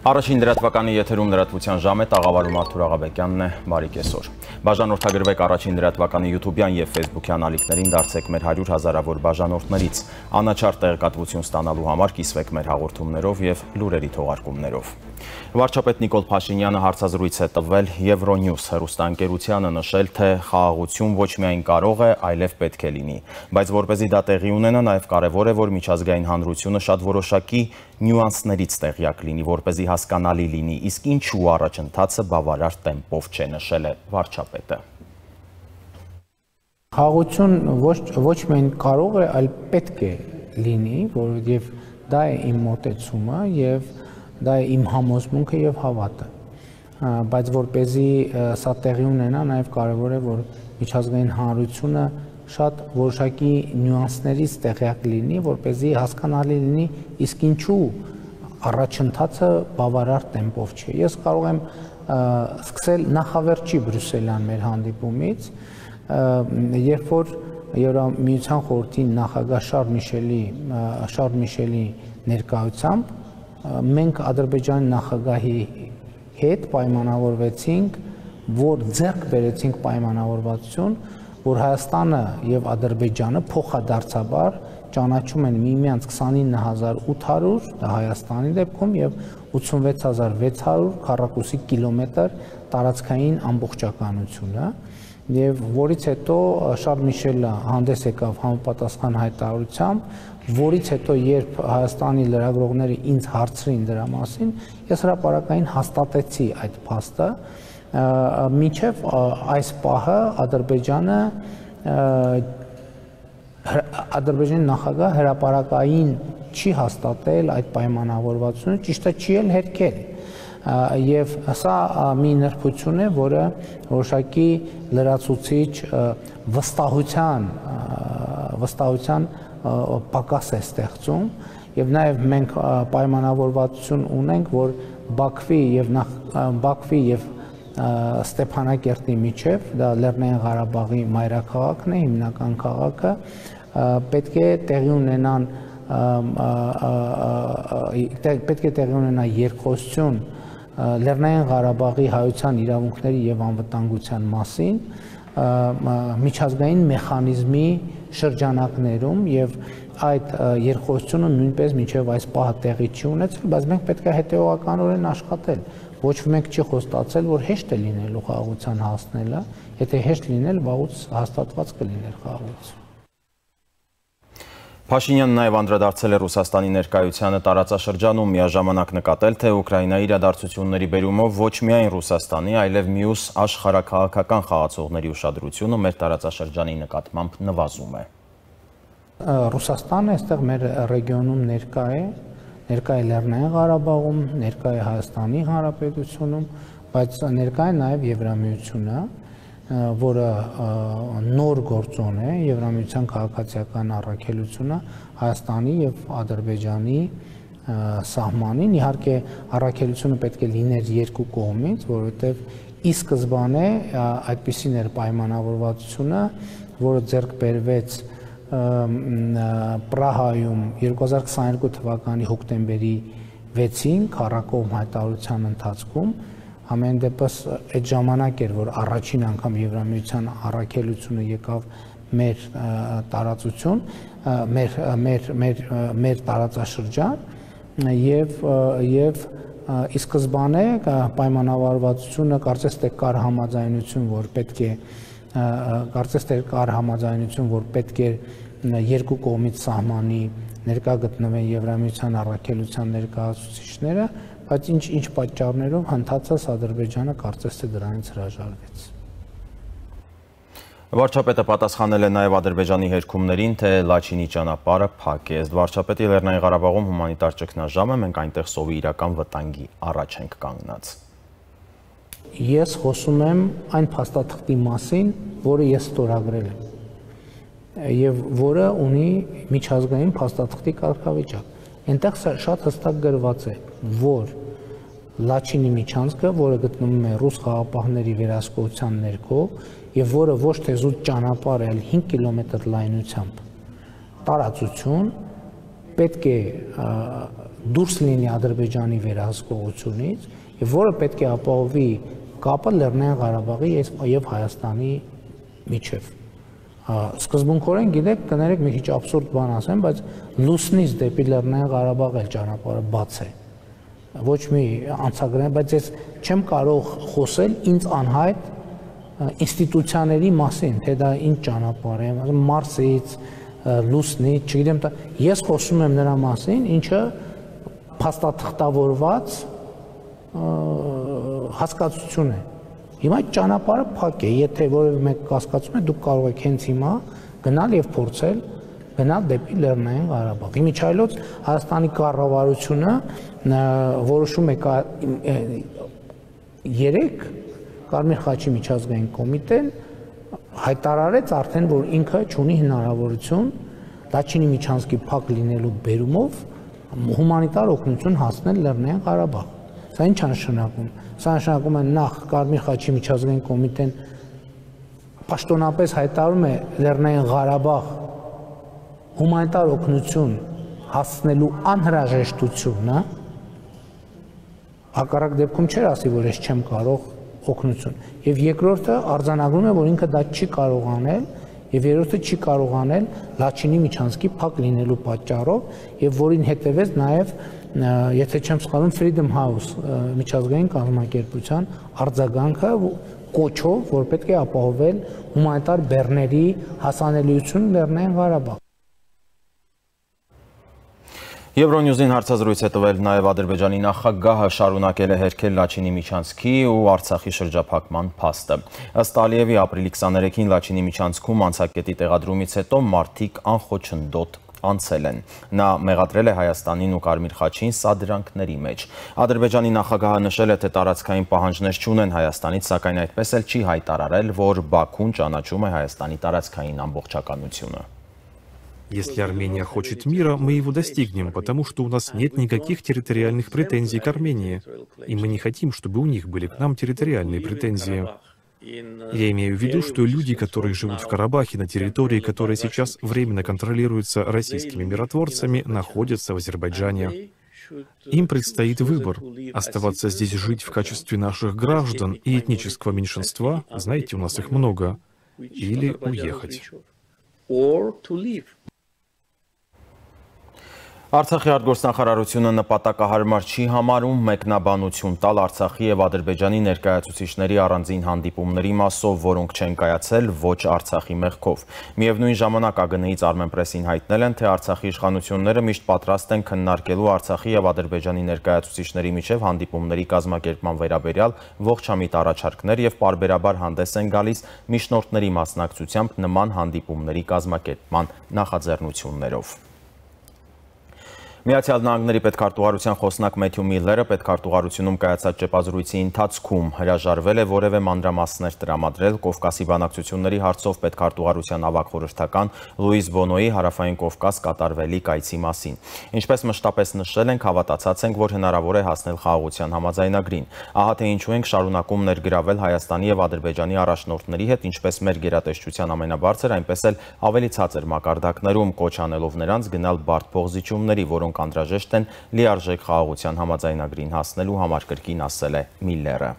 Առաջին լրատվականի եթերում լրատվության ժամ է, տաղավարում Արթուր Աղաբեկյանն է, բարի կեսօր։ Բաժանորդագրվեք առաջին լրատվականի յութուբյան և ֆեյսբուքյան ալիքներին, դարձեք մեր 100 հազարավոր բաժանորդներից, անաչառ տեղեկատվություն ստանալու համար կիսվեք մեր հաղորդումներով և լուրերի թողարկումներով։ Վարչապետ Նիկոլ Փաշինյանը հարցազրույց է տվել Euronews հեռուստաընկերությանը, նշել, թե խաղաղություն ոչ միայն կարող է, այլև պետք է լինի, բայց որպեսզի դա տեղի ունենա, նաև կարևոր է, որ միջազգային հանրությունը շատ որոշակի նյուանսներից տեղյակ լինի, որպեսզի հասկանալի լինի, իսկ ինչու առաջընթացը բավարար տեմպով չէ, նշել է վարչապետը։ Խաղաղություն ոչ միայն կարող է, այլ պետք է լինի, որովհետև դա է իմ մոտեցումը եւ դա է իմ համոզմունքը եւ հավատը, բայց որպեսզի սա տեղի ունենա, նաև կարևոր է, որ միջազգային հանրությունը շատ որոշակի նյուանսներից տեղյակ լինի, որպեսզի հասկանալի լինի, իսկ ինչու առաջընթացը բավարար տեմպով չէ։ Ես կարող եմ սկսել նախավերջի բրյուսելյան մեր հանդիպումից, երբ որ Եվրամիության խորհրդի նախագահ Շարլ Միշելի ներկայությամբ մենք Ադրբեջանի նախագահի հետ պայմանավորվեցինք, որ ձեռք բերեցինք պայմանավորվածություն, որ Հայաստանը եւ Ադրբեջանը փոխադարձաբար ճանաչում են միմյանց 29800, դա Հայաստանի դեպքում, եւ 86600 քառակուսի կիլոմետր տարածքային ամբողջականությունը, եւ որից հետո Շարլ Միշելը հանդես եկավ համապատասխան հայտարարությամբ, որից հետո երբ Հայաստանի լրագրողները ինձ հարցրին դրա մասին, ես հրապարակային հաստատեցի այդ փաստը, մինչև այս պահը Ադրբեջանի նախագահ հրապարակային չի հաստատել այդ պայմանավորվածությունը, ճիշտը չի էլ հերքել, եւ սա մի նրբություն է, որը որոշակի լրացուցիչ վստահության պակաս է ստեղծում, եւ նաեւ մենք պայմանավորվածություն ունենք, որ Բաքվի եւ Ստեփանակերտի միջև, դա Լեռնային Ղարաբաղի մայրաքաղաքն է, հիմնական քաղաքը, պետք է տեղի ունենա երկխոսություն Լեռնային Ղարաբաղի հայության իրավունքների եւ անվտանգության մասին միջազգային մեխանիզմի շրջանակներում եւ այդ երկխոսությունը նույնպես մինչեւ այս պահը տեղի չի ունեցել, բայց մենք պետք է հետեւողականորեն աշխատել։ Ոչ մեկ չի խոստացել, որ հեշտ է լինելու խաղաղության հասնելը, եթե հեշտ լինել, վաղուց հաստատված կլիներ խաղաղություն։ Փաշինյանն նաև անդրադարձել է Ռուսաստանի ներկայությանը տարածաշրջանում, միաժամանակ նկատել, թե Ուկրաինայի իրադարձությունների բերումով ոչ միայն Ռուսաստանի, այլև մյուս աշխարհաքաղաքական խաղացողների ուշադրությունը մեր տարածաշրջանի նկատմամբ նվազում է։ Ռուսաստանը այստեղ մեր ռեգիոնում ներկա է Լեռնային Ղարաբաղում, ներկա է Հայաստանի Հանրապետությունում, բայց ներկա է նաև Եվրամիությունը, որը նոր գործոն է, Եվրամիության քաղաքացիական առաքելությունը Հայաստանի եւ Ադրբեջանի սահմանին, իհարկե առաքելությունը պետք է լիներ երկու կողմից, որովհետեւ ի սկզբանե այդպիսին էր պայմանավորվածությունը, որը ձեռք բերվեց Պրահայում 2022 թվականի հոկտեմբերի 6-ին քառակողմ հայտարարության ընթացքում, ամեն դեպս այդ ժամանակ էր, որ առաջին անգամ Եվրամիության առաքելությունը եկավ մեր տարածություն, մեր տարածաշրջան եւ ի սկզբանե պայմանավորվածությունը կարծես թե կար համաձայնություն, որ պետք է երկու կողմից սահմանի ներկա գտնվեն Եվրամիության առաքելության ներկայացուցիչները, բայց ինչ պատճառներով հնդածս Ադրբեջանը կարծես թե դրանից հրաժարվեց։ Վարչապետը պատասխանել է նաև Ադրբեջանի հերքումներին, թե Լաչինի ճանապարհը փակ է։ Ըստ վարչապետի Լեռնային Ղարաբաղում հումանիտար ճգնաժամ է, մենք այնտեղ սովի իրական վտանգի առաջ ենք կանգնած։ Ես խոսում եմ այն փաստաթղթի մասին, որը ես ստորագրել եմ, եւ որը ունի միջազգային փաստաթղթի կարգավիճակ։ Այնտեղ շատ հստակ գրված է, որ Լաչինի միջանցքը, որը գտնվում է ռուս խաղաղապահների վերահսկողության ներքո, եւ որը ոչ թե զուտ ճանապարհ է, այլ 5 կիլոմետր լայնությամբ տարածություն, պետք է դուրս լինի Ադրբեջանի վերահսկողությունից եւ որը պետք է ապահովի կապը Լեռնային Ղարաբաղի եւ Հայաստանի միջև։ Սկզբունքորեն գիտեք, կներեք մի քիչ աբսուրդ բան ասեմ, բայց լուսնից դեպի Լեռնային Ղարաբաղ էլ ճանապարհը բաց է։ Ոչ մի անցագրային, բայց ես չեմ կարող խոսել ինձ անհայտ ինստիտուցիաների մասին, թե դա ինչ ճանապարհ է, Մարսից, լուսնից, չգիտեմ, ես խոսում եմ նրա մասին, ինչը փաստաթղթավորված հասկացություն է։ Հիմա ճանապարհը փակ է, եթե որևէ մեկ կասկածում է, դուք կարող եք հենց հիմա գնալ եւ փորձել գնալ դեպի Լեռնային Ղարաբաղ։ Իմիջայլոց Հայաստանի կառավարությունը որոշում է 3 Կարմիր խաչի միջազգային կոմիտեն հայտարարեց արդեն, որ ինքը ունի հնարավորություն Լաչինի միջանցքի փակ լինելու բերումով հումանիտար օգնություն հասնել Լեռնային Ղարաբաղ։ Սա ինչ է նշանակում։ Սա նշանակում է նախ Կարմիր խաչի միջազգային կոմիտեն պաշտոնապես հայտարարում է Լեռնային Ղարաբաղ հումանիտար օգնություն հասնելու անհրաժեշտությունը, հակառակ դեպքում չէր ասի, որ ես չեմ կարող օգնություն։ Եվ երկրորդը արձանագրում է, որ ինքը դա չի կարող անել, եւ երրորդը չի կարող անել Լաչինի միջանցքի փակ լինելու պատճառով, եւ որին հետեւեց նաեւ եթե չեմ սխալվում Freedom House միջազգային կազմակերպության արձագանքը կոչով, որ պետք է ապահովել հումանիտար բեռների հասանելիություն Լեռնային Ղարաբաղ։ Եվրոնյուզին հարցազրույց է տվել նաև Ադրբեջանի նախագահը շարունակել է հերքել Լաչինի միջանցքի ու Արցախի շրջափակման փաստը։ Ըստ Ալիևի ապրիլի 23-ին Լաչինի միջանցքում անցակետի տեղադրումից հետո մարդիկ անխոչնդոտ անցել են։ Նա մեղադրել է Հայաստանին ու Կարմիր խաչին սադրանքների մեջ։ Ադրբեջանի նախագահը նշել է, թե տարածքային պահանջներ չունեն Հայաստանից, սակայն այդպես էլ չի հայտարարել, որ Բաքուն ճանաչում է Հայաստանի տարածքային ամբողջականությունը։ Если Армения хочет мира, мы его достигнем, потому что у нас нет никаких территориальных претензий к Армении. И мы не хотим, чтобы у них были к нам территориальные претензии. Я имею в виду, что люди, которые живут в Карабахе, на территории, которая сейчас временно контролируется российскими миротворцами, находятся в Азербайджане. Им предстоит выбор – оставаться здесь жить в качестве наших граждан и этнического меньшинства, знаете, у нас их много, или уехать. Արցախի արտգործնախարարությունը նպատակահարմար չի համարում մեկնաբանություն տալ Արցախի եւ Ադրբեջանի ներկայացուցիչների առանձին հանդիպումների մասով, որոնք չեն կայացել ոչ Արցախի մեղքով։ Միևնույն ժամանակ ԱԳՆ-ից Armenpress-ին հայտնել են, թե Արցախի իշխանությունները միշտ պատրաստ են քննարկելու Արցախի եւ Ադրբեջանի ներկայացուցիչների միջև հանդիպումների կազմակերպման վերաբերյալ ողջամիտ առաջարկներ եւ պարբերաբար հանդես են գալիս միջնորդների մասնակցությամբ նման հանդիպումների կազմակերպման նախաձեռնություններով։ Միացյալ Նահանգների պետքարտուղարության խոսնակ Մեթյու Միլլերը պետքարտուղարությունում կայացած ճեպազրույցի ընթացքում հրաժարվել է որևէ մանրամասներ տրամադրել Կովկասի բանակցությունների հարցով պետքարտուղարության ավագ խորհրդական Լուիս Բոնոյի հարավային Կովկաս կատարվելիք այցի մասին։ Ինչպես մշտապես նշել ենք, հավատացած ենք, որ հնարավոր է հասնել խաղաղության համաձայնագրին։ Ահա թե ինչու ենք շարունակում ներգրավել Հայաստանի եւ Ադրբեջանի առաջնորդների հետ, ինչպես մեր գերատեսչության ամենաբարձր, այնպես էլ ավելի ցածր մակարդակներում, կոչ անելով նրանց գնալ բարդ փոխզիջումների, որոնք անհրաժեշտ են լիարժեք խաղաղության համաձայնագրին հասնելու համար, կրկին ասել է Միլլերը։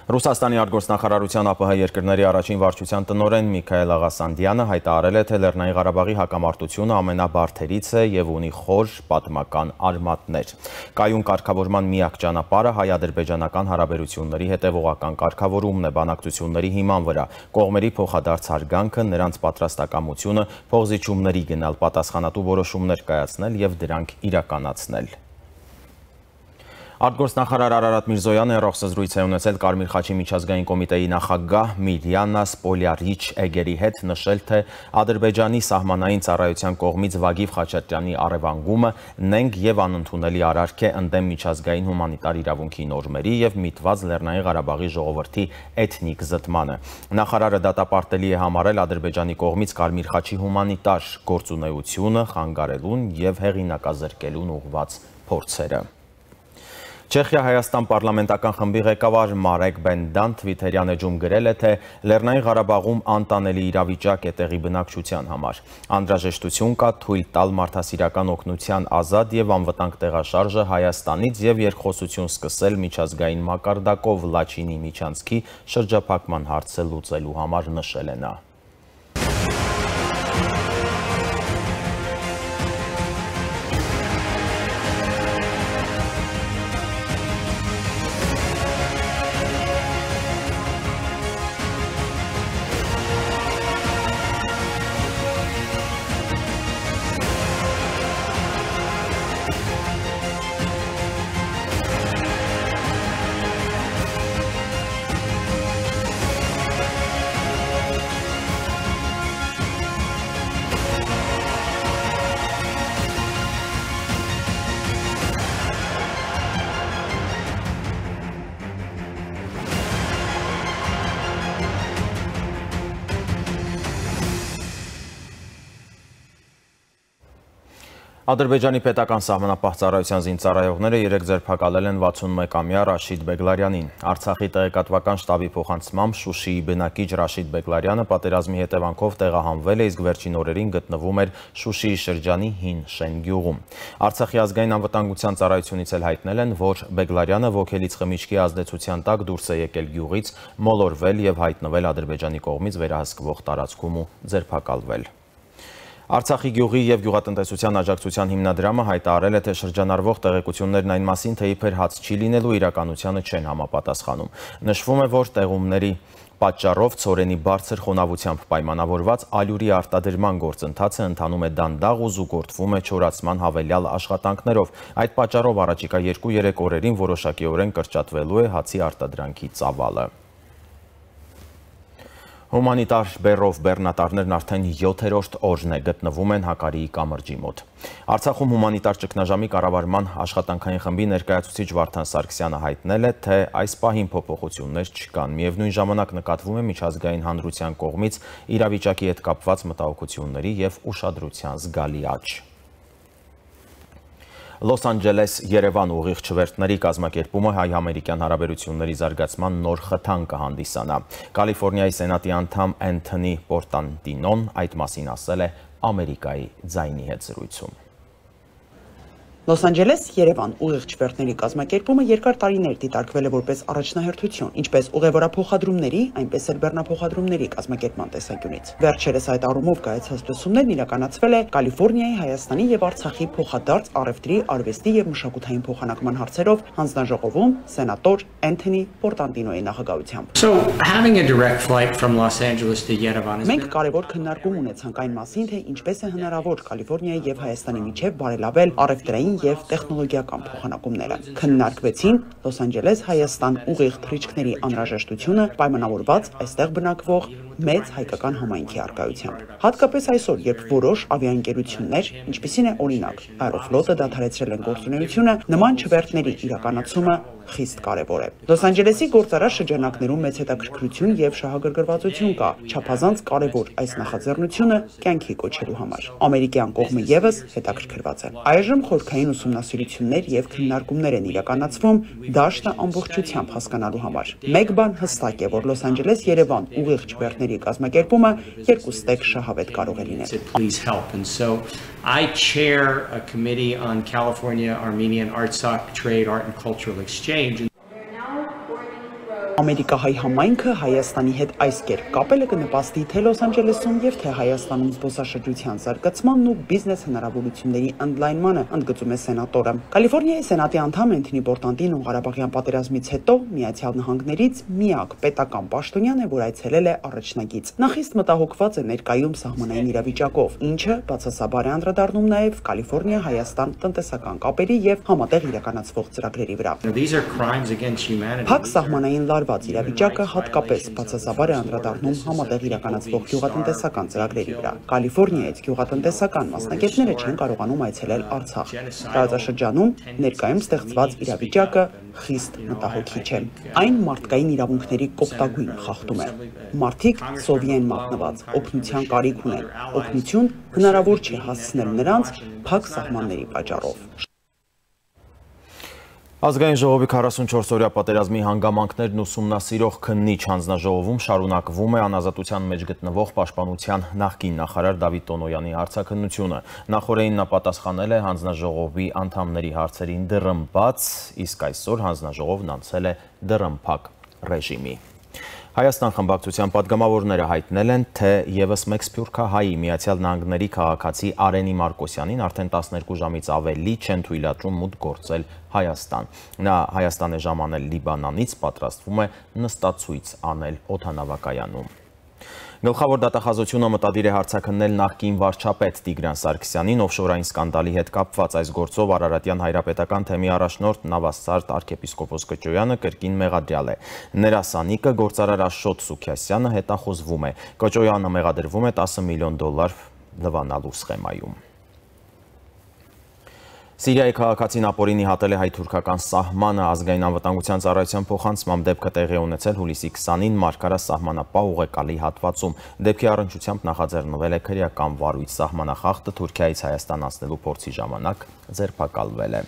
Ռուսաստանի արտգործնախարարության ԱՊՀ երկրների առաջին վարչության տնօրեն Միքայել Աղասանդյանը հայտարարել է, թե Լեռնային Ղարաբաղի հակամարտությունը ամենաբարդերից է եւ ունի խոր պատմական արմատներ։ Կայուն կարգավորման միակ ճանապարհը հայ-ադրբեջանական հարաբերությունների հետևողական կարգավորումն է բանակցությունների հիման վրա, կողմերի փոխադարձ հարգանքը, նրանց պատրաստակամությունը փոխզիջումների գնալ, պատասխանատու որոշումներ կայացնել եւ դրանք իրականացնել։ Արտգործնախարար Արարատ Միրզոյանը ռոխսազրույց է ունեցել Կարմիր խաչի միջազգային կոմիտեի նախագահ Միրյանա Սպոլյարիչ Էգերի հետ, նշել, թե Ադրբեջանի սահմանային ծառայության կողմից Վագիվ Խաչատրյանի առևանգումը նենգ եւ անընդունելի արարք է ընդդեմ միջազգային հումանիտար իրավունքի նորմերի եւ միտված Լեռնային Ղարաբաղի ժողովրդի էթնիկ զտմանը։ Նախարարը դատապարտելի է համարել Ադրբեջանի կողմից Կարմիր խաչի հումանիտար գործունեությունը խանգարելուն եւ հեղինակազրկելուն ուղղված փորձերը։ Չեխիա-Հայաստան պարլամենտական խմբի ղեկավար Մարեկ Բենդան Թվիթերյան էջում գրել է, թե Լեռնային Ղարաբաղում անտանելի իրավիճակ է տեղի բնակչության համար։ Անհրաժեշտություն կա թույլ տալ մարդասիրական օգնության ազատ և անվտանգ տեղաշարժը Հայաստանից և երկխոսություն սկսել միջազգային մակարդակով Լաչինի միջանցքի շրջափակման հարցը լուծելու համար, նշել է նա։ Ադրբեջանի պետական սահմանապահ ծառայության զինծառայողները երեկ ձերբակալել են 61-ամյա Ռաշիդ Բեգլարյանին։ Արցախի տեղեկատվական շտաբի փոխանցմամբ Շուշիի բնակիչ Ռաշիդ Բեգլարյանը պատերազմի հետևանքով տեղահանվել է, իսկ վերջին օրերին գտնվում էր Շուշիի շրջանի Հին Շեն գյուղում։ Արցախի ազգային անվտանգության ծառայությունից էլ հայտնել են, որ Բեգլարյանը ոգելից խմիչքի ազդեցության տակ դուրս է եկել գյուղից, մոլորվել և հայտնվել Ադրբեջանի կողմից վերահսկվող տարածքում ու ձերբակալվել։ Արցախի գյուղի և գյուղատնտեսության աջակցության հիմնադրամը հայտարարել է, թե շրջանառվող տեղեկություններն այն մասին, թե իբր հաց չի լինելու, իրականությանը չեն համապատասխանում։ Նշվում է, որ տեղումների պատճառով ցորենի բարձր խոնավությամբ պայմանավորված ալյուրի արտադրման գործընթացը ընթանում է դանդաղ ու զուգորդվում է չորացման հավելյալ աշխատանքներով։ Այդ պատճառով առաջիկա 2-3 օրերին որոշակիորեն կրճատվելու է հացի արտադրանքի ծավալը։ Հումանիտար բեռով բեռնատարներն արդեն 7-րդ օրն է գտնվում են Հակարիի կամրջի մոտ։ Արցախում հումանիտար ճգնաժամի կառավարման աշխատանքային խմբի ներկայացուցիչ Վարդան Սարգսյանը հայտնել է, թե այս պահին փոփոխություններ չկան։ Միևնույն ժամանակ նկատվում է միջազգային հանրության կողմից իրավիճակի հետ կապված մտահոգությունների և ուշադրության զգալի աճ։ Լոս Անջելես Երևան ուղիղ չվերթների կազմակերպումը հայ-ամերիկյան հարաբերությունների զարգացման նոր խթան կհանդիսանա։ Կալիֆոռնիայի սենատի անդամ Էնթոնի Պորտանտինոն այդ մասին ասել է Ամերիկայի ձայնի հետ զրույցում։ Լոս Անջելես Երևան ուղիղ չվերթների կազմակերպումը երկար տարիներ դիտարկվել է որպես առաջնահերթություն, ինչպես ուղևորափոխադրումների, այնպես էլ բեռնափոխադրումների կազմակերպման տեսանկյունից։ Վերջերս այդ առումով կայացած լսումներն իրականացվել է Կալիֆոռնիայի, Հայաստանի և Արցախի փոխադարձ առևտրի, արվեստի և մշակութային փոխանակման հարցերով հանձնաժողովում սենատոր Էնթոնի Պորտանտինոյի նախագահությամբ։ Մենք կարևոր քննարկում ունեցանք այն մասին, թե ինչպես է հնարավոր Կալիֆոռնիայի և Հայաստանի միջև բարելավել առևտրային և տեխնոլոգիական փոխանակումները։ Քննարկվեցին Լոս Անջելես Հայաստան ուղիղ թռիչքների անհրաժեշտությունը պայմանավորված այստեղ բնակվող մեծ հայկական համայնքի առկայությամբ։ Հատկապես այսօր, երբ որոշ ավիաընկերություններ, ինչպիսին է օրինակ Aeroflot-ը դադարեցրել են գործունեությունը, նման չվերթների իրականացումը խիստ կարևոր է։ Լոս Անջելեսի գործարար շրջանակներում մեծ հետաքրքրություն և շահագրգռվածություն կա, չափազանց կարևոր այս նախաձեռնությունը կյանքի կոչելու համար։ Ամերիկյան կողմը ևս հետաքրքրված է։ Այժմ խորհրդային ուսումնասիրություններ և քննարկումներ են իրականացվում դաշտը ամբողջությամբ հասկանալու համար։ Մեկ բան հստակ է, որ Լոս Անջելես Երևան ուղիղ չվերթների կազմակերպումը երկուստեք շահավետ կարող է լինել։ I chair a committee on California, Armenian, Artsakh, trade, art and cultural exchange. Ամերիկահայ համայնքը Հայաստանի հետ այս կերպ կապելը կնպաստի թե Լոս Անջելեսում և թե Հայաստանում զբոսաշրջության զարգացմանն ու բիզնես հնարավորությունների ընդլայնմանը, ընդգծում է սենատորը։ Կալիֆոռնիայի սենատի անդամ Էնթոնի Պորտանտինոն Ղարաբաղյան պատերազմից հետո Միացյալ Նահանգներից միակ պետական պաշտոնյան է, որ այցելել է առաջնագիծ։ Նա խիստ մտահոգված է ներկայում սահմանային իրավիճակով, ինչը բացասաբար է անդրադառնում նաև Կալիֆոռնիա-Հայաստան տնտեսական կապերի և համատեղ իրականացվող ծրագրերի վրա։ Փակ սահմանային լարված իրավիճակը հատկապես բացասաբար է անդրադառնում համատեղ իրականացվող գյուղատնտեսական ծրագրերի վրա։ Կալիֆոռնիայից գյուղատնտեսական մասնագետները չեն կարողանում այցելել Արցախ։ Տարածաշրջանում ներկայում ստեղծված իրավիճակը խիստ մտահոգիչ է։ Այն մարդկային իրավունքների կոպտագույն խախտում է։ Մարդիկ սովի են մատնված, օգնության կարիք ունեն։ Օգնություն հնարավոր չէ հասցնել նրանց փակ սահմանների պատճառով։ Ազգային ժողովի 44-օրյա պատերազմի հանգամանքներն ուսումնասիրող քննիչ հանձնաժողովում շարունակվում է անազատության մեջ գտնվող պաշտպանության նախկին նախարար Դավիթ Տոնոյանի հարցաքննությունը։ Նախորդին նա պատասխանել է հանձնաժողովի անդամների հարցերին դռնբաց, իսկ այսօր հանձնաժողովն անցել է դռնփակ ռեժիմի։ Հայաստան խմբակցության պատգամավորները հայտնել են, թե ևս մեկ սփյուռքահայի Միացյալ Նահանգների քաղաքացի Արենի Մարկոսյանին արդեն 12 ժամից ավելի չեն թույլատրում մուտք գործել Հայաստան։ Նա Հայաստան է ժամանել Լիբանանից, պատրաստվում է նստացույց անել օդանավակայանում։ Գլխավոր դատախազությունը մտադիր է հարցաքննել նախկին վարչապետ Տիգրան Սարգսյանին օֆշորային սկանդալի հետ կապված այս գործով Արարատյան հայրապետական թեմի առաջնորդ Նավասարդ arczepiskopos Կճոյանը կրկին մեղադրյալ է։ Նրա սանիկը գործարար Աշոտ Սուքիասյանը հետախուզվում է։ Կճոյանը մեղադրվում է $10 միլիոն լվանալու սխեմայում։ Սիրիայի քաղաքացին ապօրինի հատել է հայ-թուրքական սահմանը ազգային անվտանգության ծառայության փոխանցմամբ դեպքը տեղի ունեցել հուլիսի 20-ին Մարկարա սահմանապահ ուղեկալի հատվածում։ Դեպքի առնչությամբ նախաձեռնվել է քրեական վարույթ, սահմանախախտը Թուրքիայից Հայաստան անցնելու փորձի ժամանակ ձերբակալվել է։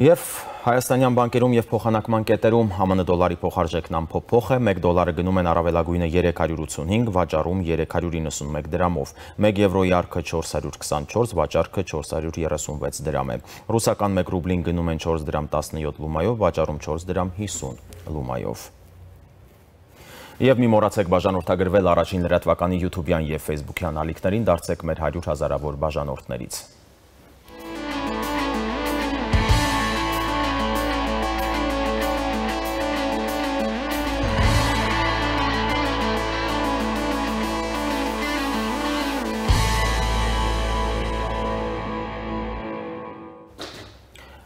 Եվ հայաստանյան բանկերում եւ փոխանակման կետերում ԱՄՆ դոլարի փոխարժեքն անփոփոխ է, 1 դոլարը գնում են առավելագույնը 385, վաճառում 391 դրամով, 1 եվրոյի արքը 424, վաճառքը 436 դրամ է։ Ռուսական 1 ռուբլին գնում են 4 դրամ 17 լումայով, վաճառում 4 դրամ 50 լումայով։ Եվ մի մոռացեք բաժանորդագրվել առաջին լրատվականի YouTube-յան եւ Facebook-յան ալիքներին, դարձեք մեր 100 հազարավոր բաժանորդներից։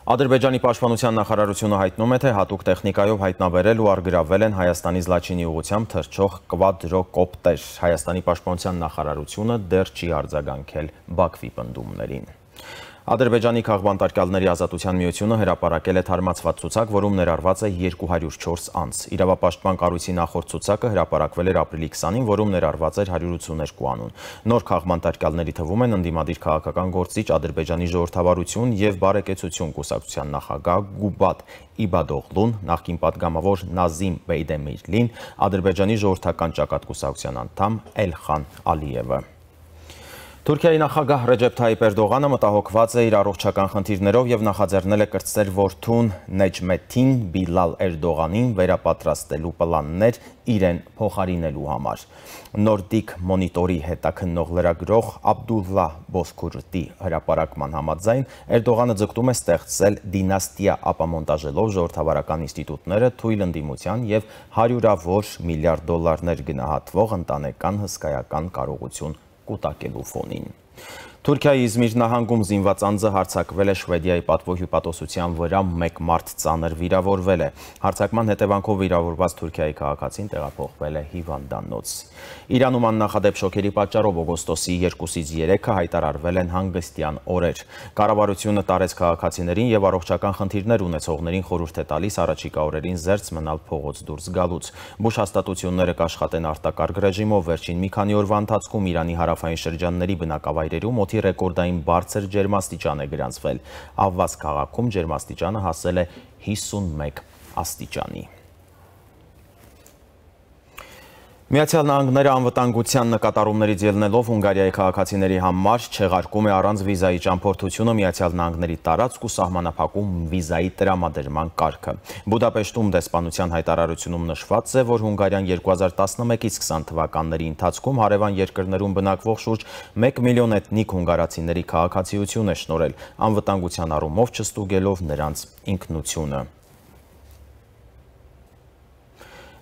Ադրբեջանի պաշտպանության նախարարությունը հայտնում է, թե հատուկ տեխնիկայով հայտնաբերել ու արգրավել են Հայաստանից Լաչինի ուղղությամբ թռչող կվադրոկոպտեր։ Հայաստանի պաշտպանության նախարարությունը դեռ չի արձագանքել Բաքվի պնդումներին։ Ադրբեջանի քաղբանտարկյալների ազատության միությունը հրապարակել է թարմացված ցուցակ, որում ներառված է 204 անձ։ Իրավապաշտպան կառույցի նախորդ ցուցակը հրապարակվել էր ապրիլի 20-ին, որում ներառված էր 182 անուն։ Նոր քաղբանտարկյալների թվում են ընդդիմադիր քաղաքական գործիչ, Ադրբեջանի ժողովրդավարություն եւ բարեկեցություն կուսակցության նախագահ Գուբատ Իբադօղլուն, նախկին պատգամավոր Նազիմ Բեյդեմիրլին, Ադրբեջանի ժողովրդական ճակատ կուսակցության անդամ Էլխան Ալիևը։ Թուրքիայի նախագահ Ռեջեփ Թայիպ Էրդողանը մտահոգված է իր առողջական խնդիրներով եւ նախաձեռնել է կրտսեր որդուն Նեջմեթին Բիլալ Էրդողանին վերապատրաստելու պլաններ իրեն փոխարինելու համար։ Նորդիկ մոնիտորի հետաքննող լրագրող Աբդուլլահ Բոսքուրտի հրապարակման համաձայն Էրդողանը ձգտում է ստեղծել դինաստիա ապամոնտաժելով ժողովրդավարական ինստիտուտները թույլ ընդդիմության եւ հարյուրավոր միլիարդ դոլարներ գնահատվող ընտանեկան հսկայական կարողություն կուտակելու ֆոնին։ Թուրքիայի Իզմիր նահանգում զինված անձը հարձակվել է Շվեդիայի պատվոհյուպատոսության վրա, 1 մարդ ծանր վիրավորվել է։ Հարձակման հետևանքով վիրավորված Թուրքիայի քաղաքացին տեղափոխվել է հիվանդանոց։ Իրանում աննախադեպ շոկերի պատճառով օգոստոսի 2-ից 3-ը հայտարարվել են հանգստյան օրեր։ Կառավարությունը տարեց քաղաքացիներին եւ առողջական խնդիրներ ունեցողներին խորհուրդ է տալիս առաջիկա օրերին զերծ մնալ փողոց դուրս գալուց։ Բուշ հաստատությունները կաշխատեն արտակարգ ռեժիմով, վերջին մի քանի օրվա ընթացքում Իրանի հարավային շրջանների բնակավայրերում ռեկորդային բարձր ջերմաստիճան է գրանցվել։ Ավազ քաղաքում ջերմաստիճանը հասել է 51 աստիճանի։ Միացյալ Նահանգները անվտանգության նկատառումներից ելնելով Հունգարիայի քաղաքացիների համար չեղարկում է առանց վիզայի ճամփորդությունը Միացյալ Նահանգների տարածք ու սահմանափակում վիզայի տրամադրման կարգը։ Բուդապեշտում դեսպանության հայտարարությունում նշված է, որ Հունգարիան 2011-ից 20 թվականների ընթացքում հարևան երկրներում բնակվող շուրջ 1 միլիոն էթնիկ հունգարացիների քաղաքացիություն է շնորհել, անվտանգության առումով չստուգելով նրանց ինքնությունը։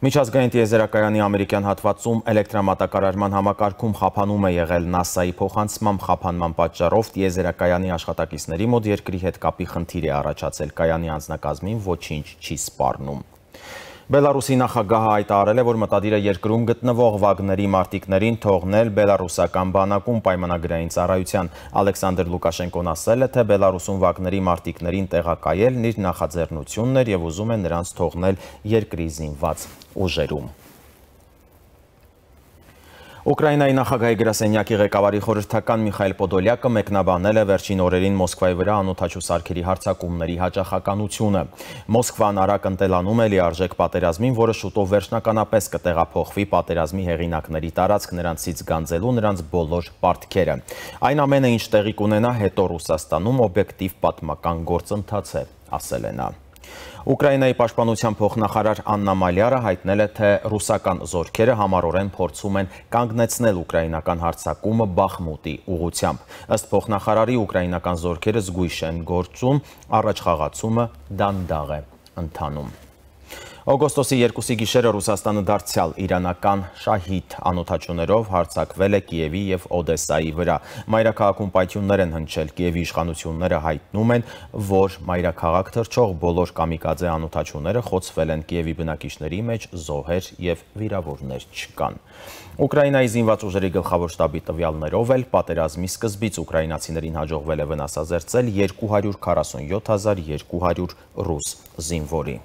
Միջազգային տիեզերակայանի ամերիկյան հատվածում էլեկտրամատակարարման համակարգում խափանում է եղել ՆԱՍԱ-ի փոխանցմամբ խափանման պատճառով տիեզերակայանի աշխատակիցների մոտ երկրի հետ կապի խնդիր է առաջացել, կայանի անձնակազմին ոչինչ չի սպառնում։ Բելարուսի նախագահը հայտարարել է, որ մտադիր է երկրում գտնվող Վագների մարտիկներին թողնել բելարուսական բանակում պայմանագրային ծառայության։ Ալեքսանդր Լուկաշենկոն ասել է, թե Բելարուսում Վագների մարտիկներին տեղակայելն իր նախաձեռնությունն էր եւ ուզում է նրանց թողնել երկրի զինված ուժերում։ Ուկրաինայի նախագահի գրասենյակի ղեկավարի խորհրդական Միխայել Պոդոլյակը մեկնաբանել է վերջին օրերին Մոսկվայի վրա անօդաչու սարքերի հարձակումների հաճախականությունը։ Մոսկվան արագ ընտելանում է լիարժեք պատերազմին, որը շուտով վերջնականապես կտեղափոխվի պատերազմի հեղինակների տարածք, նրանցից գանձելու նրանց բոլոր պարտքերը։ Այն ամենը, ինչ տեղի կունենա հետո Ռուսաստանում, օբյեկտիվ պատմական գործընթաց է, ասել է նա։ Ուկրաինայի պաշտպանության փոխնախարար Աննա Մալյարը հայտնել է, թե ռուսական զորքերը համառորեն փորձում են կանգնեցնել ուկրաինական հարձակումը Բախմուտի ուղղությամբ։ Ըստ փոխնախարարի, ուկրաինական զորքերը զգույշ են գործում, առաջխաղացումը դանդաղ է ընթանում։ Օգոստոսի 2-ի գիշերը Ռուսաստանը դարձյալ իրանական շահիդ անօդաչուներով հարձակվել է Կիևի և Օդեսայի վրա։ Մայրաքաղաքում պայթյուններ են հնչել, Կիևի իշխանությունները հայտնում են, որ մայրաքաղաք թռչող բոլոր կամիկաձե անօդաչուները խոցվել են, Կիևի բնակիչների մեջ զոհեր և վիրավորներ չկան։ Ուկրաինայի զինված ուժերի գլխավոր շտաբի տվյալներով էլ պատերազմի սկզբից ուկրաինացիներին հաջողվել է վնասազերծել 247,200 ռուս զինվորի։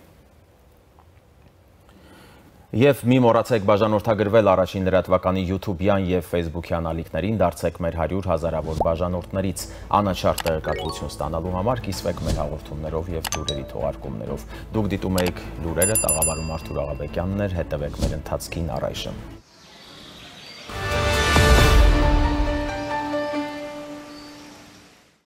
Եվ մի մոռացեք բաժանորդագրվել առաջին լրատվականի YouTube-յան և Facebook-յան ալիքներին, դարձեք մեր 100 հազարավոր բաժանորդներից, անաչառ տեղեկատվություն ստանալու համար կիսվեք մեր հաղորդումներով և լուրերի թողարկումներով։ Դուք դիտում եք լուրերը, տաղավարում Արթուր Աղաբեկյանն էր, հետևեք մեր ընթացքին առայժմ։